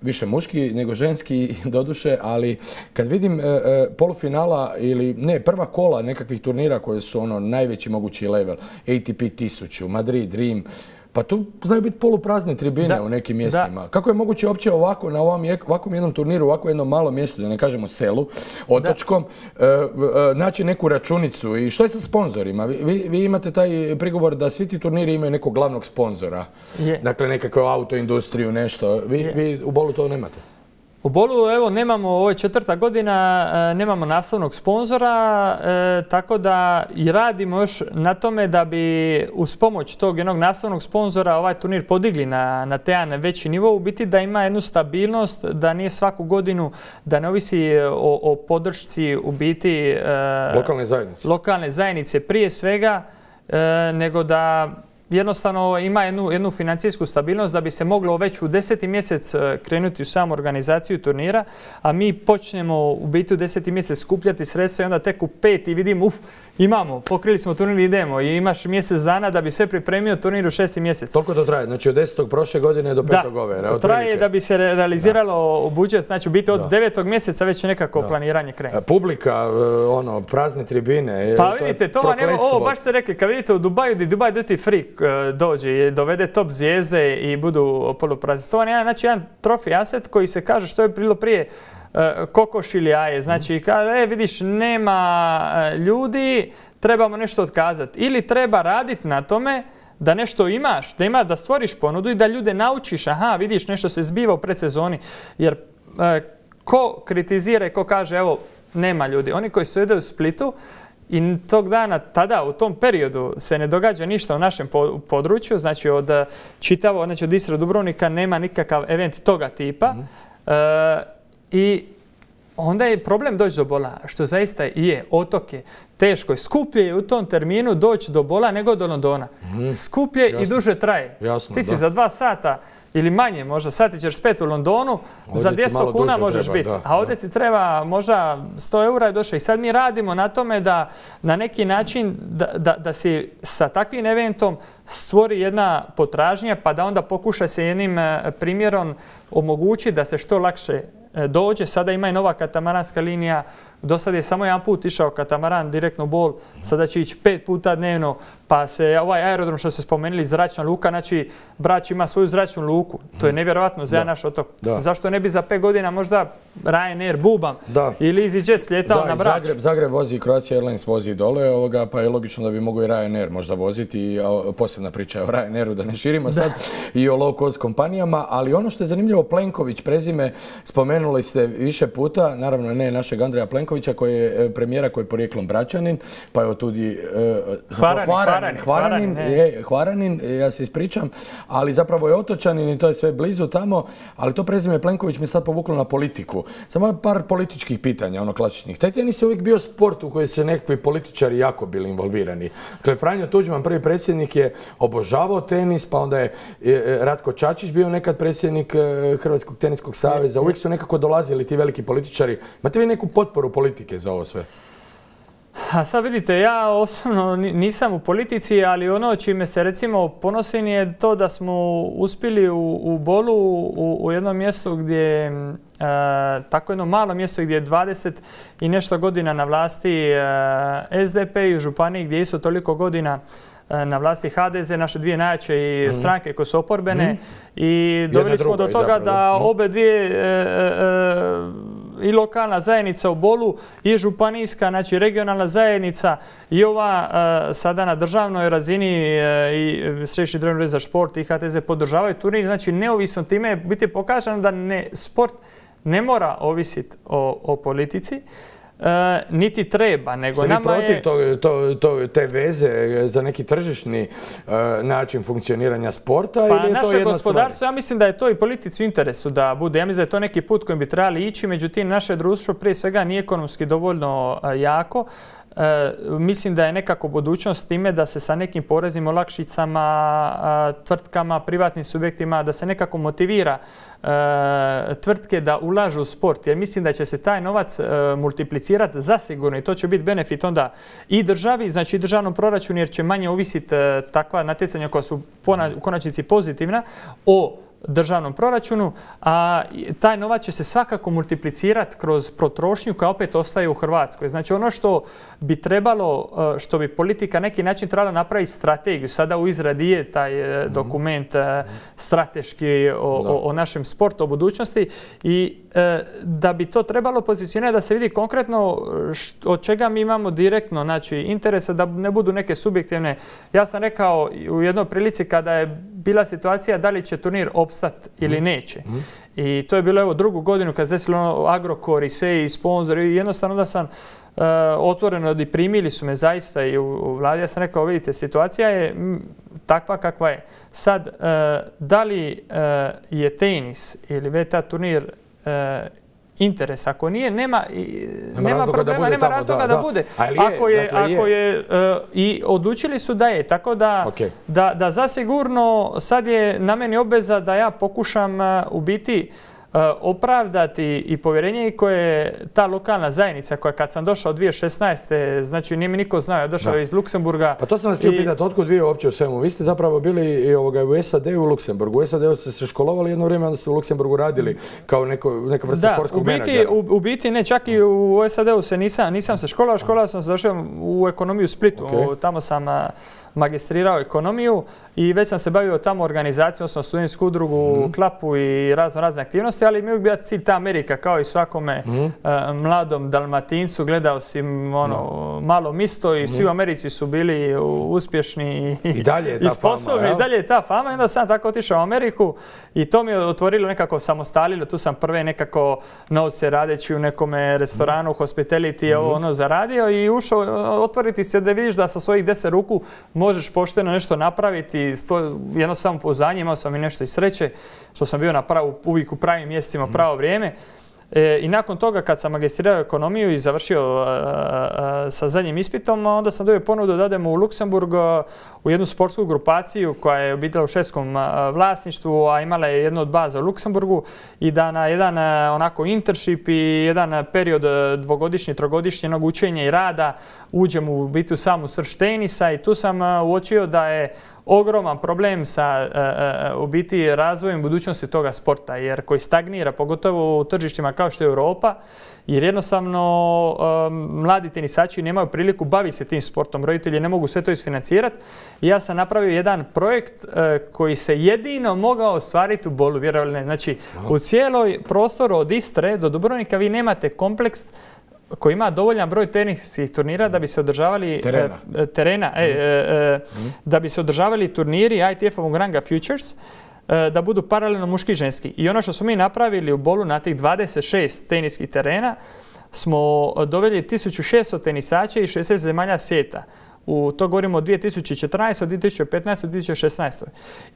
više muški nego ženski doduše, ali kad vidim polufinala ili ne, prva kola nekakvih turnira koje su ono najveći mogući level, ATP 1000, Madrid, Rim, pa tu znaju biti poluprazne tribine u nekim mjestima. Kako je moguće uopće ovako, na ovakvom jednom turniru, ovako jednom malom mjestu, da ne kažemo selu, otočkom, naći neku računicu? I što je sa sponzorima? Vi imate taj prigovor da svi ti turniri imaju nekog glavnog sponzora. Dakle, nekakvu autoindustriju, nešto. Vi u Bolu to nemate? U Bolu, evo, nemamo, ovo je 4. godina, nemamo nastavnog sponzora, tako da i radimo još na tome da bi uz pomoć tog jednog nastavnog sponzora ovaj turnir podigli na te jedan veći nivo, u biti da ima jednu stabilnost, da nije svaku godinu, da ne ovisi o podršci u biti lokalne zajednice prije svega, nego da jednostavno ima jednu financijsku stabilnost da bi se moglo već u 10. mjesec krenuti u samu organizaciju turnira, a mi počnemo u biti u 10. mjesec skupljati sredstva i onda tek u 5. vidimo, imamo, pokrili smo turnir, idemo i imaš mjesec dana da bi sve pripremio turnir u 6. mjesec. Toliko to traje? Znači od 10. prošle godine do 5. ove? Da, traje da bi se realiziralo budžet, znači u biti od 9. mjeseca već nekako planiranje krene. Publika, prazne tribine. Pa vidite, to vam ovo baš ste rekli, kad vidite u Dubaju, di Dubai Duty Free dođe i dovede top zvijezde i budu poluprazni. To vam je jedan trofej aset koji se kaže što je bilo prije kokoš ili jaje. Znači, kaže, vidiš, nema ljudi, trebamo nešto otkazati. Ili treba raditi na tome da nešto imaš, da stvoriš ponudu i da ljude naučiš, aha, vidiš, nešto se zbiva u predsezoni. Jer ko kritizira i ko kaže, evo, nema ljudi. Oni koji su u Splitu, i tog dana, tada, u tom periodu se ne događa ništa u našem području, znači od Istre do Dubrovnika nema nikakav event toga tipa. I onda je problem doći do Bola, što zaista je, otok je, teško je. Skuplje je u tom terminu doći do Bola nego do Londona. Skuplje i duže traje. Ti si za 2 sata ili manje, možda sati ćeš spet u Londonu, za 200 kuna možeš biti. A ovdje ti treba možda 100 eura je došao. I sad mi radimo na tome da na neki način da si sa takvim eventom stvori jedna potražnja pa da onda pokuša se jednim primjerom omogući da se što lakše dođe. Sada ima i nova katamaranska linija. Do sad je samo jedan put išao katamaran direktno u Bol, sada će ići 5 puta dnevno, pa se ovaj aerodrom što ste spomenuli, zračna luka, znači Brač ima svoju zračnu luku. To je nevjerojatno za naš otok. Zašto ne bi za 5 godina možda Ryanair Bubam ili EasyJet slijetao na Brač? Zagreb vozi, Croatia Airlines vozi dole, pa je logično da bi mogao i Ryanair možda voziti. Posebna priča je o Ryanairu, da ne širimo sad, i o low cost kompanijama. Ali ono što je zanimljivo, Plenković, prezime, spomenuli ste više puta, naravno ne našeg Andreja Plenkovića, koji je premijera, koji je porijeklom Bračanin, pa je otud i Hvaranin, ja se ispričam, ali zapravo je otočanin i to je sve blizu tamo, ali to prezime Plenković me sad povuklo na politiku. Samo par političkih pitanja, ono klasičnih. Taj tenis je uvijek bio sport u koji se nekakvi političari jako bili involvirani. Dakle, Franjo Tuđman, prvi predsjednik, je obožavao tenis, pa onda je Ratko Čačić bio nekad predsjednik Hrvatskog teniskog saveza. Uvijek su nekako dolazili ti veliki političari. Imate vi neku potporu politike za ovo sve? A sad vidite, ja osobno nisam u politici, ali ono čime se recimo ponosim je to da smo uspjeli u Bolu u jednom mjestu gdje, tako jedno malo mjesto gdje je 20 i nešto godina na vlasti SDP i u županiji gdje je isto toliko godina na vlasti HDZ, naše dvije najjače stranke koje su oporbene, i doveli smo do toga da obe dvije i lokalna zajednica u Bolu i županijska, znači regionalna zajednica i ova sada na državnoj razini i Središnji državni ured za šport i HTZ podržavaju turnir. Znači neovisno time je biti pokazano da sport ne mora ovisiti o politici. Niti treba, nego nama je... Ste vi protiv te veze za neki tržišni način funkcioniranja sporta ili je to jedna stvar? Pa naše gospodarstvo, ja mislim da je to i politici u interesu da bude. Ja mislim da je to neki put kojim bi trebali ići, međutim naše društvo prije svega nije ekonomski dovoljno jako. Mislim da je nekako budućnost time da se sa nekim poreznim olakšicama, tvrtkama, privatnim subjektima, da se nekako motivira tvrtke da ulažu u sport. Jer mislim da će se taj novac multiplicirati zasigurno i to će biti benefit onda i državi, znači i državnom proračunu, jer će manje ovisiti takva natjecanja koja su u konačnici pozitivna o državnom proračunu, a taj novac će se svakako multiplicirati kroz potrošnju koja opet ostaje u Hrvatskoj. Znači ono što bi trebalo, što bi politika neki način trebala napraviti strategiju, sada u izradi je taj dokument strateški o našem sportu, o budućnosti i da bi to trebalo pozicionirati da se vidi konkretno od čega mi imamo direktno interese, da ne budu neke subjektivne. Ja sam rekao u jednoj prilici kada je bila situacija da li će turnir opstati ili neće. I to je bilo drugu godinu kad se desilo Agrokor i sve i sponzori i jednostavno da sam otvoreno i primili su me zaista i u vladi. Ja sam rekao, vidite, situacija je takva kakva je. Sad, da li je tenis ili VTA turnir interes, ako nije, nema problema, nema razloga da bude. Ako je, i odlučili su da je, tako da zasigurno sad je na meni obveza da ja pokušam u biti opravdati i povjerenje koje ta lokalna zajednica koja kad sam došao 2016. znači nije mi niko znao, ja došao iz Luksemburga. Pa to sam vas htio pitati, otkud vi uopće u svemu? Vi ste zapravo bili u SAD-u i u Luksemburgu. U SAD-u ste se školovali jedno vrijeme, onda ste u Luksemburgu radili kao neka vrsta sportskog menadžera. U biti ne, čak i u SAD-u se nisam se školovao sam se došao u ekonomiju u Splitu. Tamo sam magistrirao ekonomiju i već sam se bavio tamo organizacijom, odnosno studentsku udrugu, klapu i razne aktivnosti, ali mi je uvijek bio cilj ta Amerika, kao i svakome mladom Dalmatincu. Gledao si malo misto i svi u Americi su bili uspješni i sposobni. I dalje je ta fama i onda sam tako otišao u Ameriku i to mi je otvorilo nekako samostalilo. Tu sam prve nekako novce radeći u nekome restoranu, hospitality, zaradio i ušao otvoriti se da vidiš da sa svojih 10 ruku možeš pošteno nešto napraviti, jedno samopouzdanje, imao sam i nešto i sreće, što sam bio uvijek u pravim mjestima, pravo vrijeme. I nakon toga kad sam magistrirao ekonomiju i završio sa zadnjim ispitom, onda sam dobio ponudu da odem u Luksemburg u jednu sportsku grupaciju koja je obitala u švedskom vlasništvu, a imala je jednu od baza u Luksemburgu i da na jedan onako internship i jedan period dvogodišnji, trogodišnjeg učenja i rada uđem u biti u samu srž tenisa i tu sam uočio da je ogroman problem sa u biti razvojem budućnosti toga sporta, jer koji stagnira, pogotovo u tržištima kao što je Europa, jer jednostavno mladi tenisači nemaju priliku baviti se tim sportom, roditelji ne mogu sve to isfinancirati. I ja sam napravio jedan projekt koji se jedino mogao ostvariti u Bolu, vjerovali ne. Znači, u cijeloj prostoru od Istre do Dubrovnika vi nemate kompleks koji ima dovoljan broj teniskih turnira da bi se održavali da bi se održavali turniri ITF-ovog ranga Futures, da budu paralelno muški i ženski. I ono što smo mi napravili u Bolu na tih 26 teniskih terena smo doveli 1600 tenisača i 60 zemalja svijeta. To govorimo o 2014, 2015, 2016.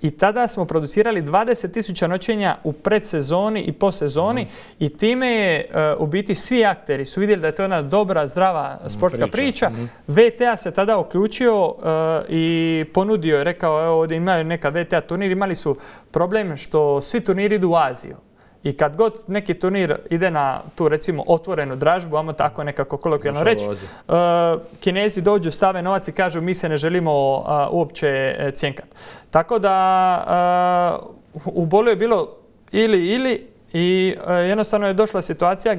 I tada smo producirali 20.000 noćenja u predsezoni i posezoni i time je u biti svi akteri su vidjeli da je to jedna dobra, zdrava sportska priča. VTA se tada uključio i ponudio je, rekao evo ovdje imaju neka VTA turnir, imali su problem što svi turniri idu u Aziju. I kad god neki turnir ide na tu recimo otvorenu dražbu, ajmo tako nekako kolokvijalno reći, Kinezi dođu, stave novac i kažu mi se ne želimo uopće cjenkati. Tako da u Bolu je bilo ili i jednostavno je došla situacija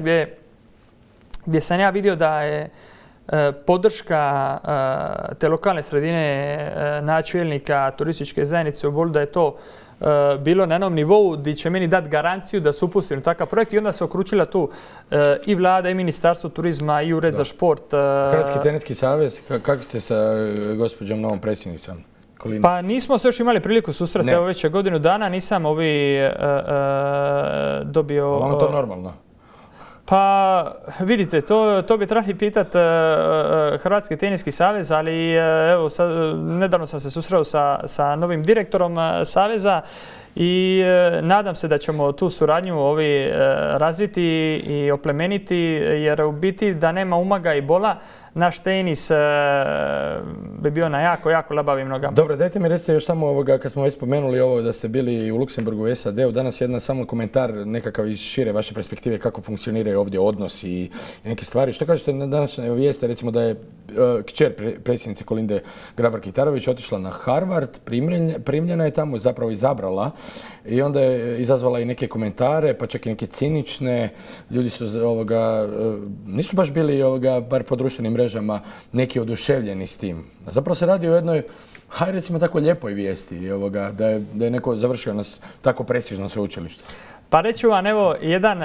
gdje sam ja vidio da je podrška te lokalne sredine, načelnika turističke zajednice u Bolu, da je to bilo na jednom nivou gdje će meni dati garanciju da se upustim u takav projekt i onda se okručila tu i vlada i Ministarstvo turizma i Ured za šport. Hrvatski teniski savez, kako ste sa gospođom novom predsjednicom? Pa nismo se još imali priliku susreti, evo već je godinu dana, nisam dobio... Vama to normalno? Pa vidite, to bi trebali pitati Hrvatski teniski savez, ali evo nedavno sam se susreo sa novim direktorom saveza i nadam se da ćemo tu suradnju razviti i oplemeniti, jer u biti da nema umaga i bola, naš tenis bi bio na jako labavim nogama. Dobro, dajte mi recite još samo kad smo već spomenuli ovo da ste bili u Luksemburgu u SAD-u, danas jedan samo komentar nekakav iz šire vaše perspektive kako funkcioniraju ovdje odnosi i neke stvari. Što kažete na današnje vijeste, recimo da je kćer predsjednice Kolinde Grabar-Kitarović otišla na Harvard, primljena je tamo, zapravo izabrala i onda je izazvala i neke komentare, pa čak i neke cinične. Ljudi su nisu baš bili bar po društvenim mrežama neki oduševljeni s tim. A zapravo se radi o jednoj, hajde recimo tako lijepoj vijesti, da je neko završio nas tako prestižno sveučilište. Pa reću vam, evo, jedan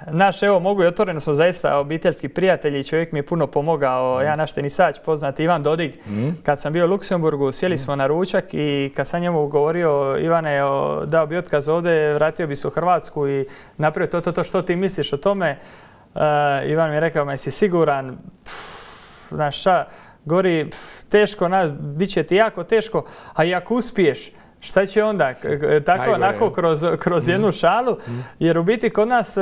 naš, evo, mogu i otvoreno smo zaista obiteljski prijatelji i čovjek mi je puno pomogao, jedan naš tenisač poznati Ivan Dodig. Kad sam bio u Luksemburgu, sjeli smo na ručak i kad sam njemu govorio, Ivane, dao bi otkaz ovdje, vratio bi se u Hrvatsku i napravio to, što ti misliš o tome? Ivan mi je rekao, jesi siguran? Znaš šta, govori, teško, bit će ti jako teško, a i ako uspiješ, šta će onda? Tako onako kroz jednu šalu, jer u biti kod nas,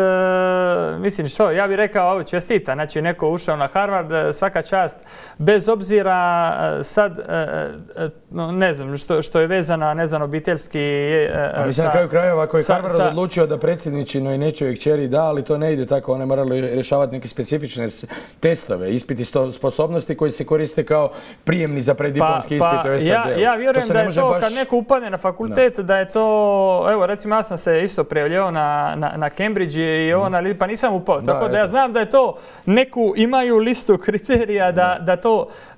mislim što, ja bih rekao, čestita, znači neko ušao na Harvard, svaka čast, bez obzira sad, ne znam, što je vezano, ne znam, obiteljski... A mislim na kraju krajeva, ako je Harvard odlučio da predsjedničinoj nečoj kćeri da, ali to ne ide tako, one morali rješavati neke specifične testove, ispiti sposobnosti koji se koriste kao prijemni za preddiplomski ispit u SAD-u. Ja vjerujem da je to kad neko upadne na fakultet, da je to, evo recimo ja sam se isto prijavljivao na Cambridge i ovo, pa nisam upao, tako da ja znam da je to, neku imaju listu kriterija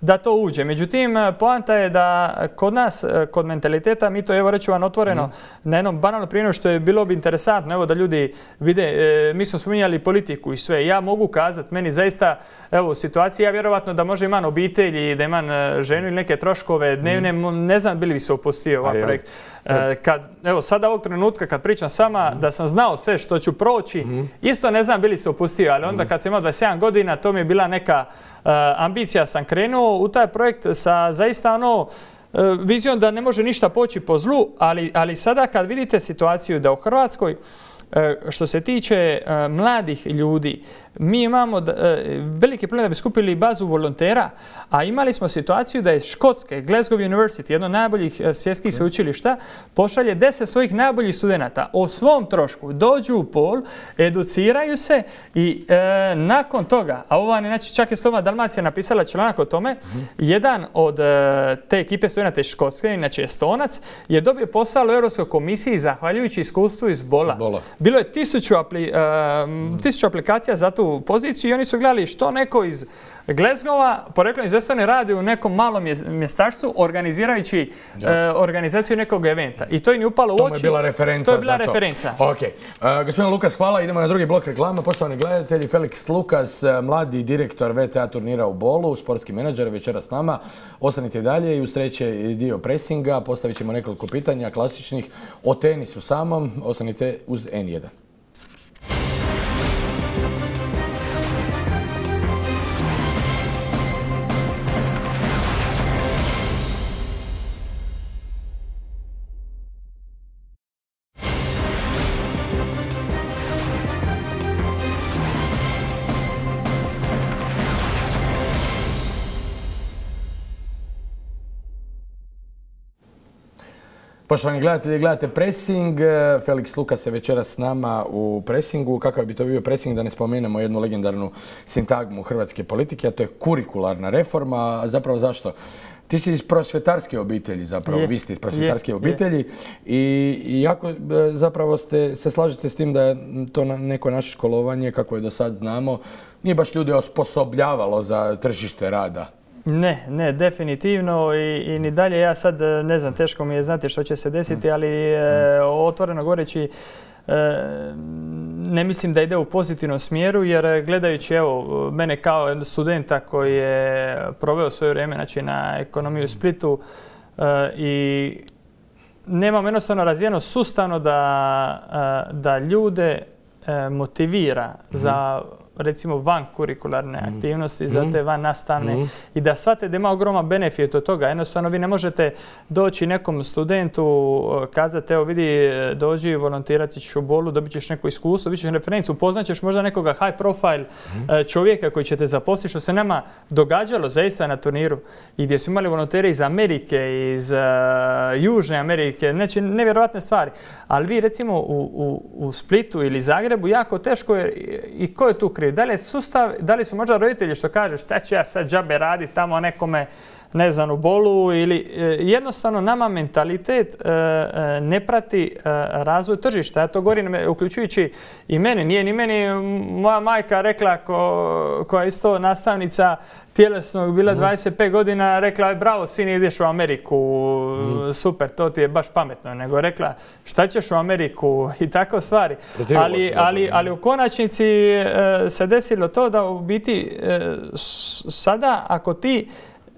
da to uđe. Međutim, poanta je da kod nas, kod mentaliteta, mi to, evo reću vam otvoreno, na jednom banalnom primjeru što je bilo bi interesantno, evo da ljudi vide, mi smo spominjali politiku i sve, ja mogu kazati, meni zaista, evo u situaciji, ja vjerovatno da može imam obitelji, da imam ženu ili neke troškove dnevne, ne znam bili bi se opustio ovaj projekt. Evo sada ovog trenutka kad pričam sama da sam znao sve što ću proći, isto ne znam bili se opustio, ali onda kad sam imao 27 godina to mi je bila neka ambicija, sam krenuo u taj projekt sa zaista vizijom da ne može ništa poći po zlu, ali sada kad vidite situaciju da u Hrvatskoj što se tiče mladih ljudi, mi imamo veliki problem da bi skupili bazu volontera, a imali smo situaciju da je Škotske, Glasgow University, jedno od najboljih svjetskih sveučilišta, pošalje 10 svojih najboljih studenata o svom trošku, dođu u Pol, educiraju se i nakon toga, a ovo znači čak je Slobodna Dalmacija napisala članak o tome, jedan od te ekipe studenata iz Škotske, inače Estonac, je dobio posao u Europskoj komisiji zahvaljujući iskustvu iz Bola. Bilo je 1000 aplikacija za tu poziciju i oni su gledali što neko iz Glasgowa, poreklom iz Estonije, radi u nekom malom mjestašcu organizirajući organizaciju nekog eventa. I to im je upalo u oči. To je bila referenca za to. To je bila referenca. Ok. Gospodin Lukas, hvala. Idemo na drugi blok reklama. Poštovani gledatelji, Felix Lukas, mladi direktor VTA turnira u Bolu, sportski menadžer, večera s nama. Ostanite dalje i uz treći dio presinga postavit ćemo nekoliko pitanja klasičnih o tenisu samom. Ostanite uz N1. Poštovani gledatelji, gledate Pressing. Felix Lukas je večeras s nama u Pressingu. Kakav bi to bio Pressing da ne spomenemo jednu legendarnu sintagmu hrvatske politike, a to je kurikularna reforma. A zapravo zašto? Ti si iz prosvjetarske obitelji zapravo, vi ste iz prosvjetarske obitelji i jako zapravo se slažete s tim da je to neko naše školovanje, kako je do sad znamo, nije baš ljude osposobljavalo za tržište rada. Ne, definitivno i ni dalje. Ja sad ne znam, teško mi je znati što će se desiti, ali otvoreno goreći ne mislim da ide u pozitivnom smjeru, jer gledajući evo mene kao studenta koji je proveo svoje vrijeme znači, na ekonomiju u Splitu i nemam jednostavno razvijeno sustavno da ljude motivira za recimo van kurikularne aktivnosti, za te van nastavne i da shvate da ima ogroman benefit od toga. Jednostavno vi ne možete doći nekom studentu, kazati evo vidi dođi volontirati ćeš u Bolu, dobit ćeš neko iskustvo, dobit ćeš referencu, upoznat ćeš možda nekoga high profile čovjeka koji će te zaposliti, što se nama događalo zaista na turniru i gdje su imali volontere iz Amerike, iz Južne Amerike, znači nevjerojatne stvari. Ali vi recimo u Splitu ili Zagrebu jako teško je i ko je tu kriv? Da li je sustav, da li su možda roditelji što kažu šta ću ja sad džabe raditi tamo nekome ne znam, u Bolu ili jednostavno nama mentalitet ne prati razvoj tržišta. Ja to govorim uključujući i mene. Nije ni meni moja majka rekla koja je isto nastavnica tjelesnog, bila 25 godina, rekla je bravo sine, ideš u Ameriku, super, to ti je baš pametno. Nego rekla šta ćeš u Ameriku i tako stvari. Ali u konačnici se desilo to da u biti sada ako ti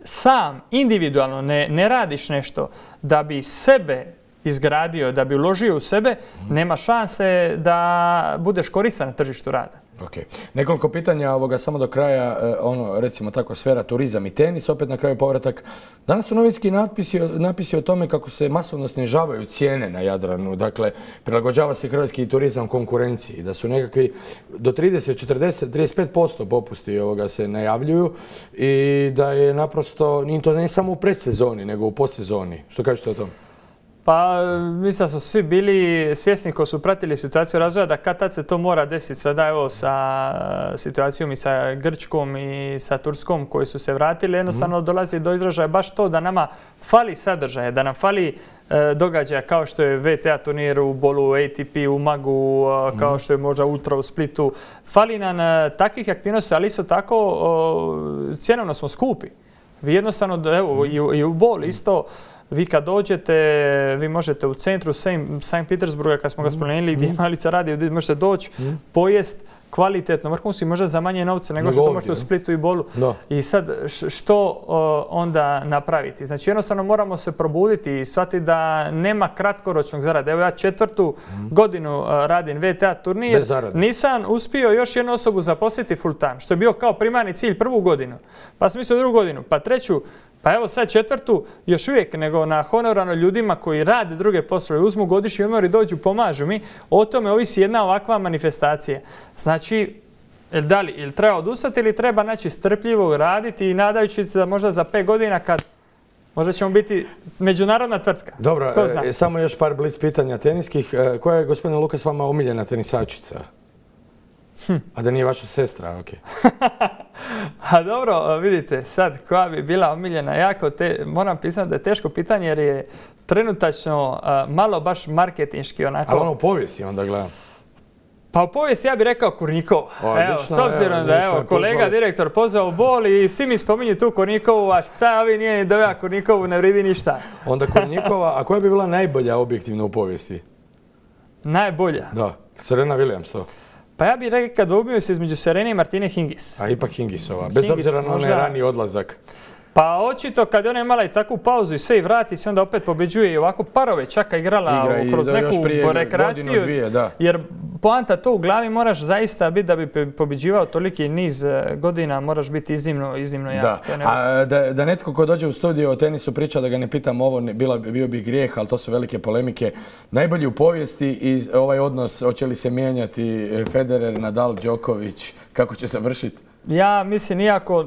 sam individualno ne radiš nešto da bi sebe izgradio, da bi uložio u sebe, nema šanse da budeš koristan na tržištu rada. Ok. Nekoliko pitanja samo do kraja, recimo tako, sfera turizam i tenis, opet na kraju povratak. Danas su novinski napisi o tome kako se masovno snižavaju cijene na Jadranu, dakle, prilagođava se hrvatski turizam konkurenciji, da su nekakvi do 30, 40, 35% popusti se najavljuju i da je naprosto, to ne samo u predsezoni, nego u postsezoni. Što kažete o tom? Pa mislim da su svi bili svjesni koji su pratili situaciju razvoja da kad tad se to mora desiti. Sada evo sa situacijom i sa Grčkom i sa Turskom koji su se vratili, jednostavno dolazi do izražaja baš to da nama fali sadržaja, da nam fali događaja kao što je VTA turnir u Bolu, ATP u Magu, kao što je možda Ultra u Splitu. Fali nam takvih aktivnosti, ali isto tako cjenovno smo skupi. Vi jednostavno, evo i u Bolu isto, vi kad dođete, vi možete u centru St. Petersburga, kad smo ga spomenuli, gdje Malica radi, gdje možete doći, pojest kvalitetno, vrhunski, možda za manje novce nego što to možete u Splitu i Bolu. I sad, što onda napraviti? Znači, jednostavno moramo se probuditi i shvatiti da nema kratkoročnog zarada. Evo ja 4. godinu radim VTA turnir, nisam uspio još jednu osobu zaposliti full time, što je bio kao primarni cilj 1. godinu. Pa sam mislio 2. godinu, pa 3. Pa evo sad 4. još uvijek nego na honorarno ljudima koji rade druge poslove, uzmu godišnji odmor i dođu, pomažu mi. O tome ovisi jedna ovakva manifestacija. Znači, ili treba odustati ili treba strpljivo raditi i nadajući se da možda za 5 godina kad možda ćemo biti međunarodna tvrtka. Dobro, samo još par blic pitanja teniskih. Koja je, gospodine Lukas, vama omiljena tenisačica? A da nije vaša sestra, ok. A dobro, vidite, sad koja bi bila omiljena, moram priznati da je teško pitanje jer je trenutačno malo baš marketinški onako. Ali u povijesti onda gledam. Pa u povijesti ja bih rekao Kornikova. Evo, s obzirom da je kolega direktor pozvao u Bol i svi mi spominju tu Kornikovu, a šta ovi nije ni doveo Kornikovu, ne vridi ništa. Onda Kornikova, a koja bi bila najbolja objektivno u povijesti? Najbolja? Da, Serena Williams to. Pa ja bih rekao da ubio se između Serene i Martine Hingis. A ipak Hingisova, bez obzira na onaj rani odlazak. Pa očito kad je ona imala i takvu pauzu i sve i vrati se, onda opet pobeđuje i ovako parove čaka igrala kroz neku rekreaciju. Jer poanta to u glavi moraš zaista biti da bi pobeđivao toliki niz godina, moraš biti iznimno jak. A da netko ko dođe u studio o tenisu priča da ga ne pitam ovo, bio bi grijeh, ali to su velike polemike. Najbolji u povijesti i ovaj odnos, hoće li se mijenjati Federer, Nadal, Đoković, kako će završiti? Ja mislim, iako,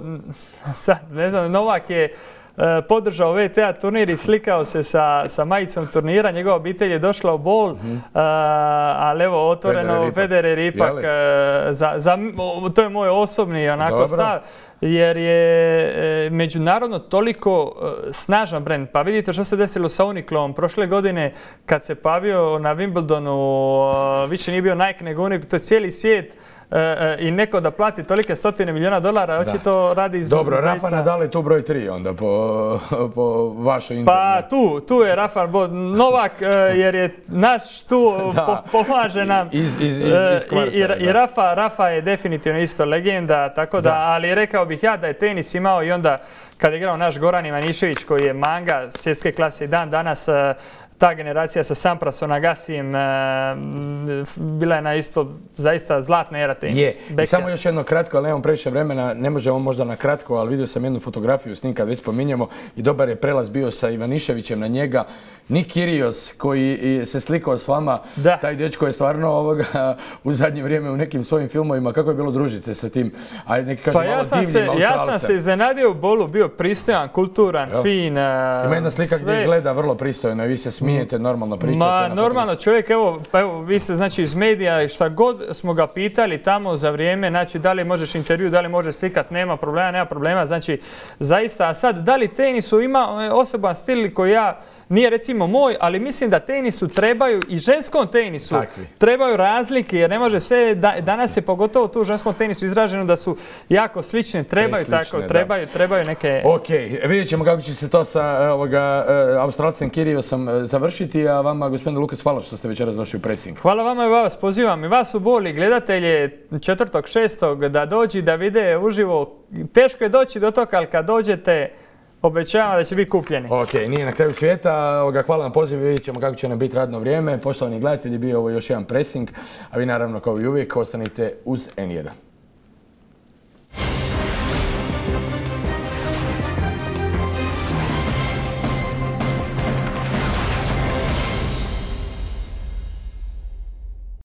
sad ne znam, Novak je podržao VTA turnir i slikao se sa majicom turnira, njegova obitelj je došla u Bol, ali evo, otvoreno Federer ipak, to je moj osobni onako stav, jer je međunarodno toliko snažan brend. Pa vidite što se desilo sa Uniqlom. Prošle godine kad se pavio na Wimbledonu, više nije bio Nike nego Uniqlo, to je cijeli svijet. I neko da plati tolike $100 milijuna, očito radi zaista... Dobro, Rafa Nadal je tu broj 3 onda po vašoj internetu. Pa tu je Rafa Novak jer je naš tu, pomaže nam. I Rafa je definitivno isto legenda, tako da, ali rekao bih ja da je tenis imao i onda kad je igrao naš Goran Ivanišević koji je manga svjetske klase i dan danas, ta generacija sa Samprasom, Agasijem, bila je na isto zaista zlatna era tenis. Je. I samo još jedno kratko, ali nemam previše vremena, ne možemo možda na kratko, ali vidio sam jednu fotografiju s njim kad već spominjemo i dobar je prelaz bio sa Ivaniševićem na njega. Nik Kyrgios koji se slikao s vama, taj dečko je stvarno u zadnje vrijeme u nekim svojim filmovima, kako je bilo družiti se sa tim, a neki kažu malo divnim Australcem. Ja sam se iznenadio u Bolu, bio pristojan, kulturan, fin. Ima jedna slika gdje izgleda vrlo pristojno i vi se smijete. smijete, normalno pričate. Ma, normalno čovjek, evo, vi se znači iz medija, šta god smo ga pitali tamo za vrijeme, znači da li možeš intervju, da li možeš slikat, nema problema, znači zaista, a sad da li tenisu ima osoban stil koji nije recimo moj, ali mislim da tenisu trebaju i ženskom tenisu trebaju razlike, jer ne može sve, danas je pogotovo tu u ženskom tenisu izraženo da su jako slične, trebaju neke... Ok, vidjet ćemo kako će se to sa Australcem Kyrgiosom završiti, a vama, gospodine Lukas, hvala što ste večeras došli u Pressing. Hvala vama i vas, pozivam i vas u Boli, gledatelje 4.6. da dođi da vide uživo. Teško je doći do toga, ali kad dođete, obećavam da će biti kupljeni. Ok, nije na kraju svijeta. Hvala na pozivu, vidjet ćemo kako će nam biti radno vrijeme. Poštovani gledatelji, bio ovo još jedan Pressing, a vi naravno kao i uvijek ostanite uz N1.